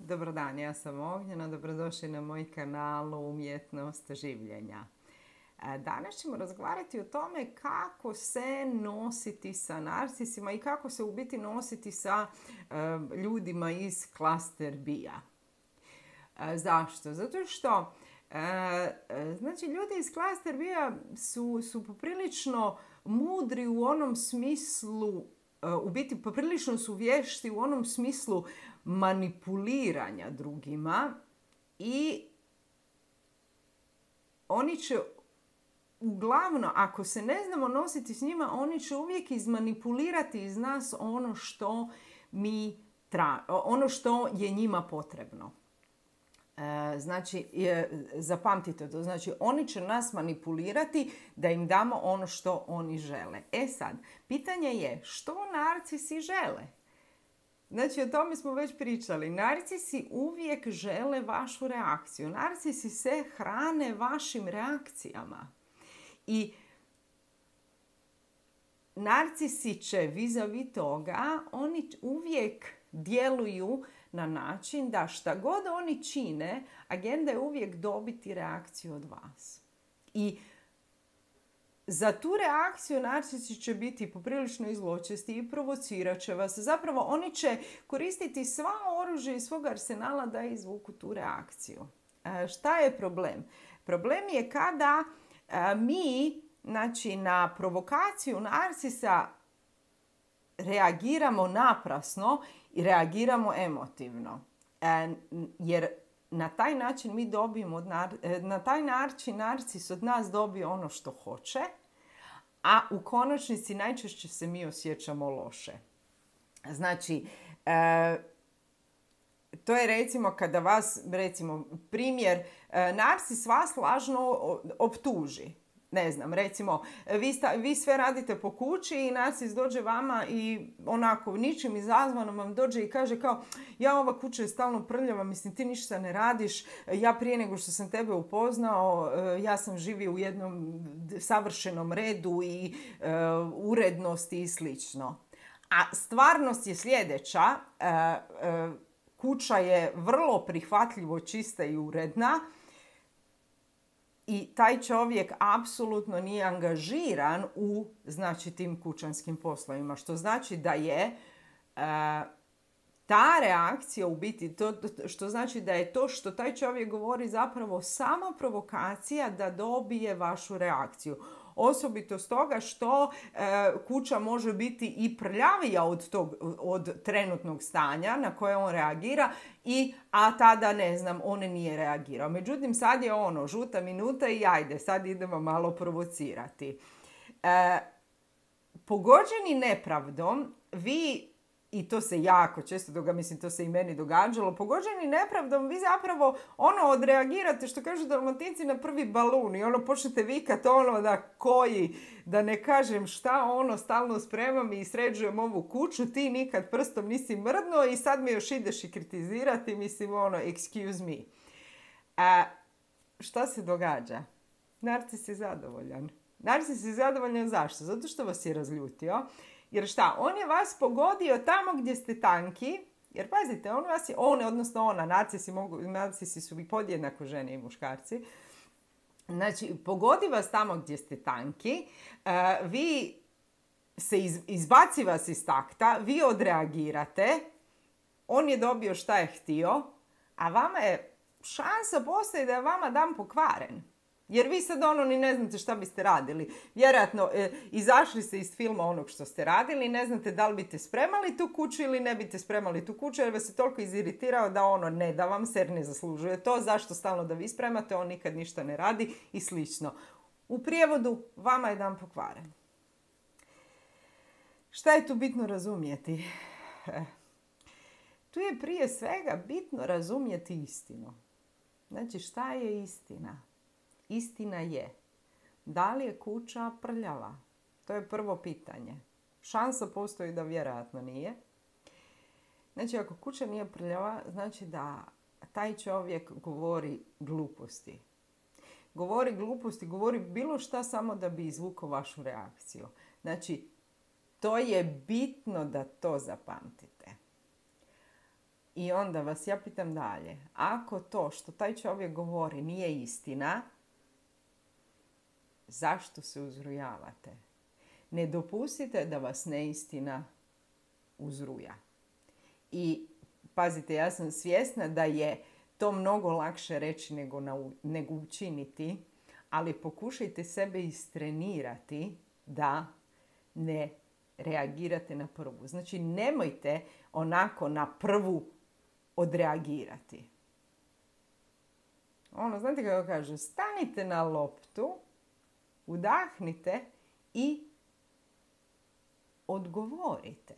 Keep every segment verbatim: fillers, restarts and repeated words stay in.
Dobar dan, ja sam Ognjena, dobrodošli na moj kanal Umjetnost življenja. Danas ćemo razgovarati o tome kako se nositi sa narcisima i kako se u biti nositi sa uh, ljudima iz klaster B-a. Uh, zašto? Zato što uh, znači, ljudi iz klaster B-a su, su poprilično mudri u onom smislu, u biti poprilično su vješti u onom smislu manipuliranja drugima i oni će uglavnom, ako se ne znamo nositi s njima, oni će uvijek izmanipulirati iz nas ono što mi tra, ono što je njima potrebno. E, znači, je, zapamtite to, znači oni će nas manipulirati da im damo ono što oni žele. E sad, pitanje je što narcisi žele? Znači, o tome smo već pričali. Narcisi uvijek žele vašu reakciju. Narcisi se hrane vašim reakcijama. I narcisi će vis-a-vis toga, oni uvijek djeluju na način da šta god oni čine, agenda je uvijek dobiti reakciju od vas. I za tu reakciju narcisi će biti poprilično zločesti i provocirat će vas. Zapravo oni će koristiti sva oružje iz svog arsenala da izvuku tu reakciju. E, šta je problem? Problem je kada e, mi, znači, na provokaciju narcisa reagiramo naprasno i reagiramo emotivno. E, jer na taj način mi dobijemo, od nar, na taj način narcis od nas dobije ono što hoće, a u konačnici najčešće se mi osjećamo loše. Znači, e, to je recimo kada vas, recimo primjer, e, narcis vas lažno optuži. Ne znam, recimo, vi, sta, vi sve radite po kući i narcis dođe vama i onako ničim izazvano vam dođe i kaže kao, ja, ova kuća je stalno prljava, mislim, ti ništa ne radiš, ja prije nego što sam tebe upoznao, ja sam živio u jednom savršenom redu i uh, urednosti i slično. A stvarnost je sljedeća, uh, uh, kuća je vrlo prihvatljivo čista i uredna, i taj čovjek apsolutno nije angažiran u, znači, tim kućanskim poslovima. Što znači da je e, ta reakcija u biti, to, što znači da je to što taj čovjek govori zapravo samo provokacija da dobije vašu reakciju. Osobito stoga što e, kuća može biti i prljavija od, tog, od trenutnog stanja na koje on reagira, i, a tada, ne znam, on nije reagirao. Međutim, sad je ono, žuta minuta i ajde, sad idemo malo provocirati. E, pogođeni nepravdom, vi, i to se jako često događa, mislim, to se i meni događalo, pogođeni nepravdom, vi zapravo ono odreagirate, što kažu Dalmatinci, na prvi balun i ono počnete vikati ono da koji, da ne kažem šta, ono stalno spremam i sređujem ovu kuću, ti nikad prstom nisi mrdnuo i sad me još ideš i kritizirati, mislim, ono, excuse me. A šta se događa? Narcis je zadovoljan. Narcis je zadovoljan zašto? Zato što vas je razljutio. Jer šta? On je vas pogodio tamo gdje ste tanki. Jer pazite, on vas je, on, odnosno ona, narcisi, mogu, narcisi su i podjednako žene i muškarci. Znači, pogodi vas tamo gdje ste tanki, uh, vi se iz, izbaci vas iz takta, vi odreagirate, on je dobio šta je htio, a vama je šansa postoji da je vama dan pokvaren. Jer vi sad ono ni ne znate šta biste radili. Vjerojatno e, izašli ste iz filma onog što ste radili, ne znate da li biste spremali tu kuću ili ne biste spremali tu kuću, jer vas je toliko iziritirao da ono ne da vam se, jer ne zaslužuje to, zašto stalno da vi spremate, on nikad ništa ne radi i slično. U prijevodu, vama je dan pokvaren. Šta je tu bitno razumjeti? Tu je prije svega bitno razumjeti istinu. Znači, šta je istina? Istina je, da li je kuća prljava? To je prvo pitanje. Šansa postoji da vjerojatno nije. Znači, ako kuća nije prljava, znači da taj čovjek govori gluposti. Govori gluposti, govori bilo šta samo da bi izvukao vašu reakciju. Znači, to je bitno da to zapamtite. I onda vas ja pitam dalje. Ako to što taj čovjek govori nije istina, zašto se uzrujavate? Ne dopustite da vas neistina uzruja. I pazite, ja sam svjesna da je to mnogo lakše reći nego, na, nego učiniti, ali pokušajte sebe istrenirati da ne reagirate na prvu. Znači, nemojte onako na prvu odreagirati. Ono, znate kako kaže, stanite na loptu, udahnite i odgovorite.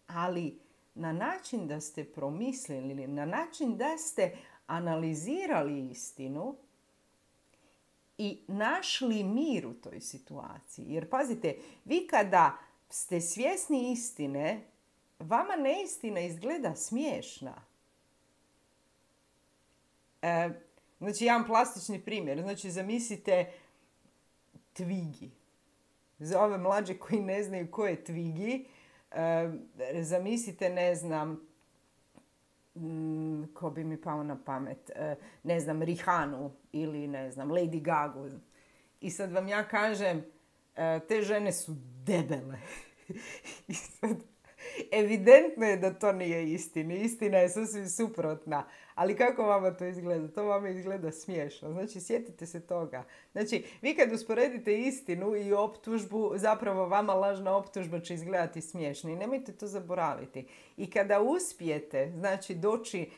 Ali na način da ste promislili, na način da ste analizirali istinu i našli mir u toj situaciji. Jer pazite, vi kada ste svjesni istine, vama neistina izgleda smiješna. E, znači, jedan plastični primjer. Znači, zamislite Twiggy. Za ove mlađe koji ne znaju ko je Twiggy, e, zamislite, ne znam, m, ko bi mi pao na pamet, e, ne znam, Rihanu ili, ne znam, Lady Gagu. I sad vam ja kažem, e, te žene su debele. I sad, evidentno je da to nije istina. Istina je sasvim suprotna. Ali kako vama to izgleda? To vama izgleda smiješno. Znači, sjetite se toga. Znači, vi kad usporedite istinu i optužbu, zapravo vama lažna optužba će izgledati smiješno. I nemojte to zaboraviti. I kada uspijete, znači, doći,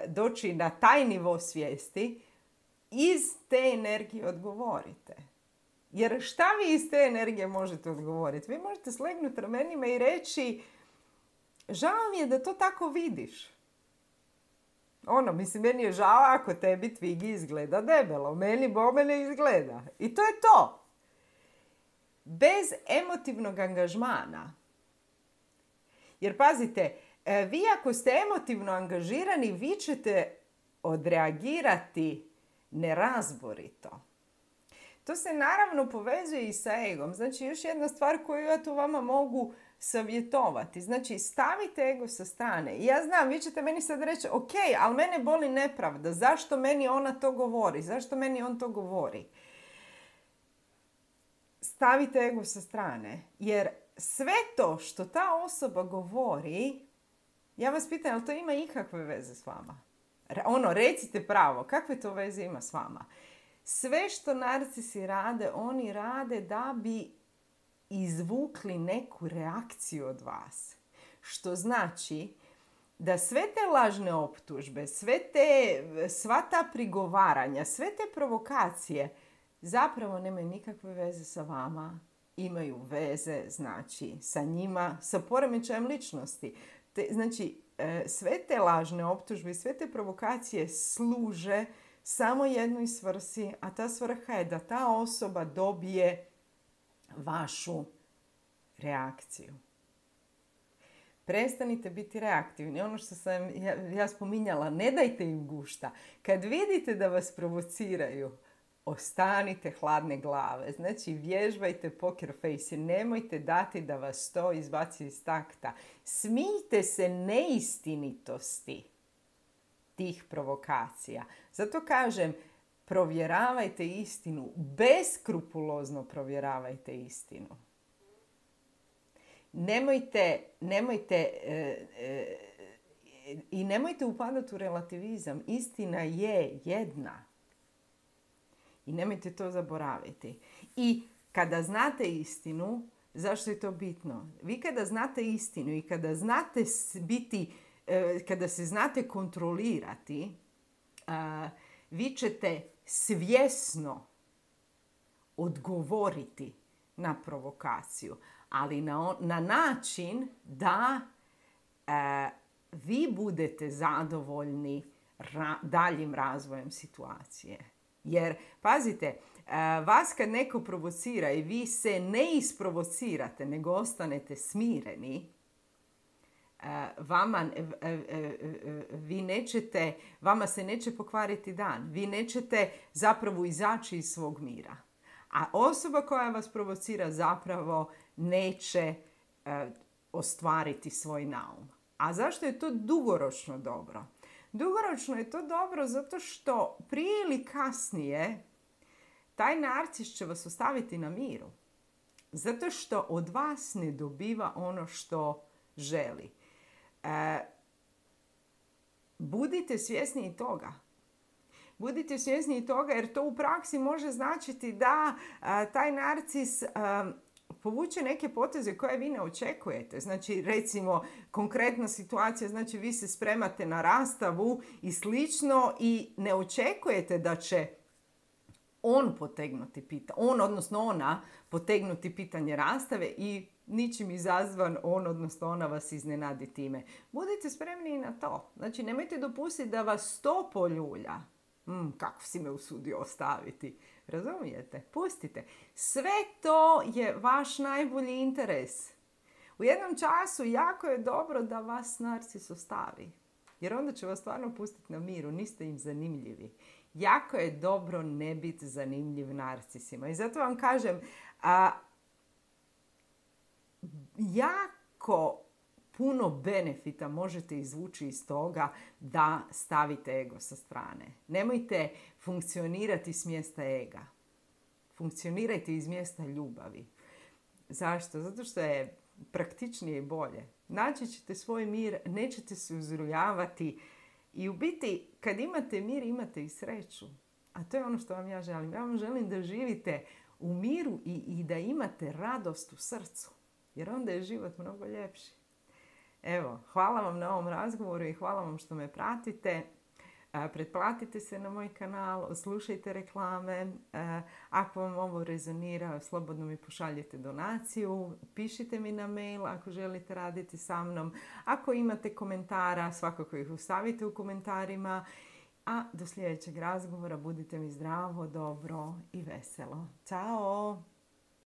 doći na taj nivo svijesti, iz te energije odgovorite. Jer šta vi iz te energije možete odgovoriti? Vi možete slegnuti ramenima i reći, žao mi je da to tako vidiš. Ono, mislim, meni je žao ako tebi Twiggy izgleda debelo. Meni bome ne izgleda. I to je to. Bez emotivnog angažmana. Jer pazite, vi ako ste emotivno angažirani, vi ćete odreagirati nerazborito. To se naravno povezuje i sa egom. Znači, još jedna stvar koju ja tu vama mogu savjetovati. Znači, stavite ego sa strane. I ja znam, vi ćete meni sad reći, ok, ali mene boli nepravda. Zašto meni ona to govori? Zašto meni on to govori? Stavite ego sa strane. Jer sve to što ta osoba govori, ja vas pitam, jel to ima ikakve veze s vama? Ono, recite pravo, kakve to veze ima s vama? Sve što narcisi rade, oni rade da bi izvukli neku reakciju od vas. Što znači da sve te lažne optužbe, sve te, sva ta prigovaranja, sve te provokacije zapravo nemaju nikakve veze sa vama. Imaju veze, znači, sa njima, sa poremećajem ličnosti. Te, znači, sve te lažne optužbe, sve te provokacije služe samo jednoj svrsi, a ta svrha je da ta osoba dobije vašu reakciju. Prestanite biti reaktivni. Ono što sam ja, ja spominjala, ne dajte im gušta. Kad vidite da vas provociraju, ostanite hladne glave. Znači, vježbajte poker face. Nemojte dati da vas to izbaci iz takta. Smijte se neistinitosti tih provokacija. Zato kažem, provjeravajte istinu. Beskrupulozno provjeravajte istinu. Nemojte, nemojte e, e, i nemojte upadati u relativizam. Istina je jedna. I nemojte to zaboraviti. I kada znate istinu, zašto je to bitno? Vi kada znate istinu i kada znate biti, kada se znate kontrolirati, vi ćete svjesno odgovoriti na provokaciju, ali na, na način da e, vi budete zadovoljni ra, daljim razvojem situacije. Jer, pazite, e, vas kad neko provocira i vi se ne isprovocirate, nego ostanete smireni, e, vama, e, e, e, vi nećete, vama se neće pokvariti dan. Vi nećete zapravo izaći iz svog mira. A osoba koja vas provocira zapravo neće e, ostvariti svoj naum. A zašto je to dugoročno dobro? Dugoročno je to dobro zato što prije ili kasnije taj narcis će vas ostaviti na miru. Zato što od vas ne dobiva ono što želi. E, budite svjesni i toga. Budite svjesni i toga jer to u praksi može značiti da a, taj narcis a, povuče neke poteze koje vi ne očekujete. Znači, recimo, konkretna situacija, znači vi se spremate na rastavu i slično i ne očekujete da će on potegnuti pitanje, on odnosno ona potegnuti pitanje rastave i ničim izazvan on odnosno ona vas iznenadi time. Budite spremni i na to. Znači, nemojte dopustiti da vas to poljulja. Mm, kako si me usudio ostaviti. Razumijete? Pustite. Sve to je vaš najbolji interes. U jednom času jako je dobro da vas narcis ostavi. Jer onda će vas stvarno pustiti na miru. Niste im zanimljivi. Jako je dobro ne biti zanimljiv narcisima. I zato vam kažem, a, jako puno benefita možete izvući iz toga da stavite ego sa strane. Nemojte funkcionirati s mjesta ega. Funkcionirajte iz mjesta ljubavi. Zašto? Zato što je praktičnije i bolje. Naći ćete svoj mir, nećete se uzrujavati i u biti kad imate mir imate i sreću. A to je ono što vam ja želim. Ja vam želim da živite u miru i, i da imate radost u srcu. Jer onda je život mnogo ljepši. Evo, hvala vam na ovom razgovoru i hvala vam što me pratite. Pretplatite se na moj kanal, slušajte reklame. Ako vam ovo rezonira, slobodno mi pošaljite donaciju. Pišite mi na mail ako želite raditi sa mnom. Ako imate komentara, svakako ih ostavite u komentarima. A do sljedećeg razgovora budite mi zdravo, dobro i veselo. Ćao!